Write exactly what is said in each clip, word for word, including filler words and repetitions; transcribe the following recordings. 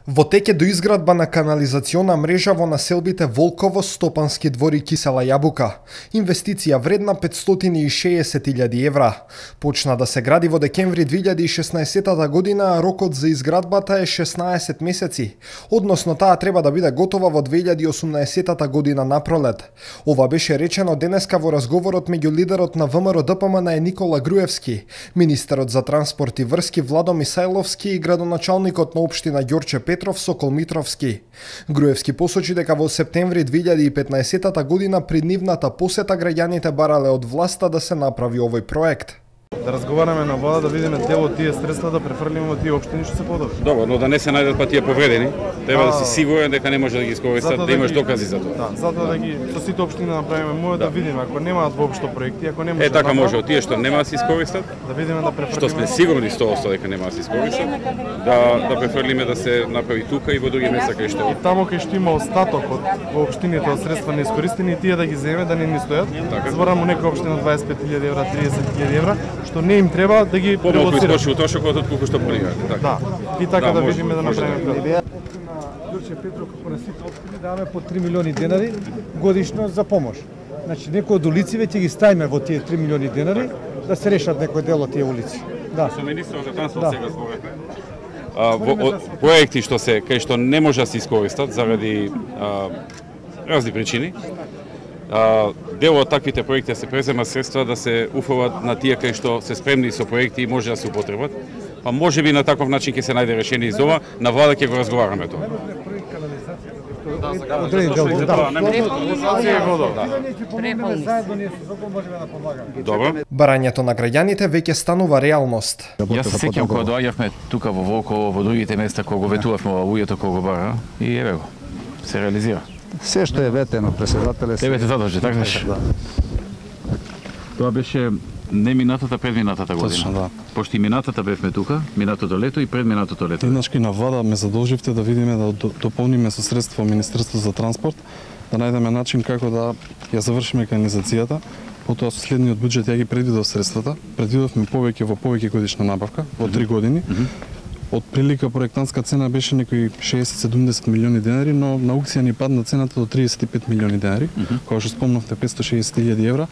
Во тек е до изградба на канализациона мрежа во населбите Волково, Стопански двор и Кисела Јабука. Инвестиција вредна петстотини и шеесет илјади евра. Почна да се гради во декември две илјади и шеснаесетта година, а рокот за изградбата е шеснаесет месеци. Односно таа треба да биде готова во две илјади и осумнаесетта година на пролет. Ова беше речено денеска во разговорот меѓу лидерот на ВМРО-ДПМН е Никола Груевски, министерот за транспорт и врски Владо Мисајловски и градоначалникот на општина Ѓорче Петров Сокол Митровски. Груевски посочи дека во септември две илјади и петнаесетта година при нивната посета граѓаните барале од власта да се направи овој проект. Да разговараме на влада, да видиме дел од тие средства да префрлиме во тие општини што се подобри. Добро, но да не се најдат па тие повредени, треба да, да си сигурен дека не може да ги искористат, да, да имаш докази за тоа. Да, затоа да ги со сите општини да направиме мојот да. да видиме ако немаат воопшто проекти, ако не може. Е така да може, од тие што нема да се искористат, да видиме да префрлиме. Што сме сигурни сто одсто дека нема да се искористат, да да префрлиме да се направи тука и во други места кај што. И таму кај што има остаток од во општините од средства неискористени, тие да ги земе, да не ни стојат. Така. Зборам некоја општина дваесет и пет илјади евра, триесет илјади евра, што не им треба да ги превозираме. Помалку трошокот од колку што планирате, така. Да. И така да, да видиме да направиме. Ѓорче Петров како на сите општини даваме по три милиони денари годишно за помош. Значи некои од улиците ќе ги ставиме во тие три милиони денари да се решат некој дел од тие улици. Да. Со министерот за транспорт да. Сега зборевме. А, во, проекти што се кај што не може да се искористат заради а, разни причини. А, дел од таквите проекти се презема средства да се уфрлат на тие кај што се спремни со проекти и може да се употребат. Па може би на таков начин ќе се најде решение из ова, на влада ќе го разговараме тоа. Добро. Барањето на граѓаните веќе станува реалност. Јас се сеќавам кога доаѓавме тука во Волково, во другите места кога го ветувавме ова луѓето кога го бара и еве го. Се реализира. Се што е ветено, председателе. Тебе те задржи, така беше. Тоа беше не минатата, предминатата година. Точно, да. Пошто и минатата бевме тука, минатото лето и предминатото лето. Еднашки на влада ме задолживте да видиме да дополниме со средства во Министерството за транспорт, да најдеме начин како да ја завршиме канализацијата. Потоа со следниот буџет ја ги предвидов средствата. Предвидовме повеќе во повеќе годишна набавка во три години. Mm -hmm. Од прилика проектантска цена беше некои шеесет до седумдесет милиони денари, но на аукција ни падна цената до триесет и пет милиони денари, mm -hmm. кога што спомнавте петстотини и шеесет илјади евра,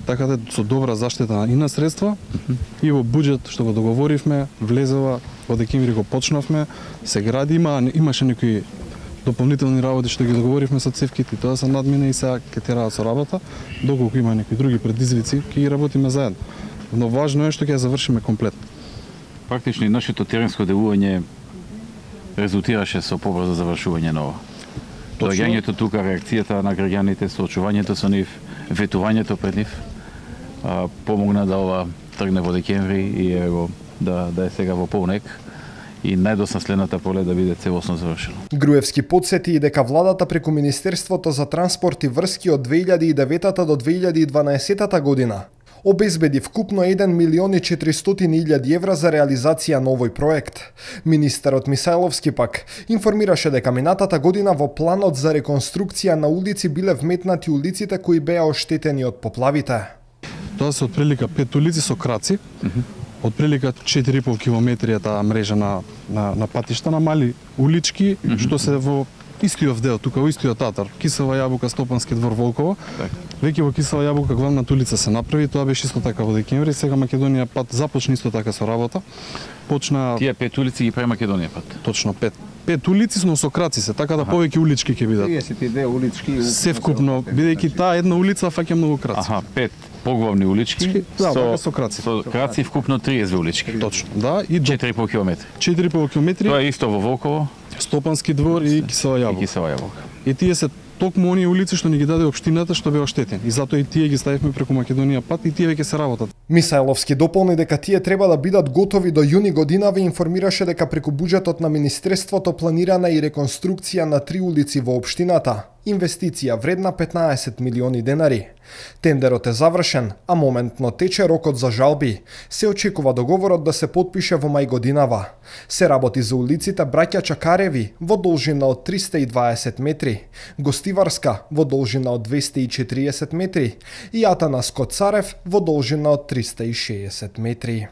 така да со добра заштита и на средства mm -hmm. и во буџет што го договоривме, влезела во декември го почнавме, се гради, има имаше некои дополнителни работи што ги договоривме со цевките, тоа се надмина и сега ќе тераат со работа, доколку има некои други предизвици, ќе ги работиме заедно. Но важно е што ќе ја завршиме комплетно. Практично нашето теренско делување резултираше со побрзо завршување на ова. Доаѓањето тука, реакцијата на граѓаните, соочувањето со нив, ветувањето пред нив, а, помогна да ова тргне во декември и ево да да е сега во полнек и најдосна следната пролет да биде целосно завршено. Груевски потсети и дека владата преку Министерството за транспорт и врски од две илјади и деветта до две илјади и дванаесетта година обезбеди вкупно еден милион и четиристотини илјади евра за реализација на овој проект. Министерот Мисајловски пак информираше дека минатата година во планот за реконструкција на улици биле вметнати улиците кои беа оштетени од поплавите. Тоа се отприлика пет улици со краци, mm -hmm. отприлика четири и пол километри таа мрежа на, на, на патишта, на мали улички, mm -hmm. што се во истиот дел, тука во истиот татар, Кисела Јабука, Стопански двор, Волково. Так. Веќе во Кисела Јабука главната улица се направи, тоа беше исто така во декември, сега Македонија пат започна исто така со работа. Почна Тие пет улици ги прави Македонија пат. Точно пет. Пет улици, но со краци се, така да повеќе улички ќе бидат. триесет и две улички. Се вкупно, бидејќи таа една улица фаќа многу краци. Аха, пет поглавни улички, да, со, со краци. Со краци вкупно триесет улички. Точно, да, и четири и пол километри. четири и пол километри. Тоа е исто во Волково, Стопански двор и Кисела Јабука. И Кисела Јабука. И тие се токму оние улици што ни ги даде општината што беа оштетени. И затоа и тие ги ставивме преку Македонија пат и тие веќе се работат. Мисајловски дополни дека тие треба да бидат готови до јуни годинава и информираше дека преку буџетот на Министерството планирана и реконструкција на три улици во општината. Инвестиција вредна петнаесет милиони денари. Тендерот е завршен, а моментно тече рокот за жалби. Се очекува договорот да се потпише во мај годинава. Се работи за улиците Браќа Чакареви во должина од триста и дваесет метри, Гостиварска во должина од двесте и четириесет метри и Атанас Коцарев во должина од триста и шеесет метри.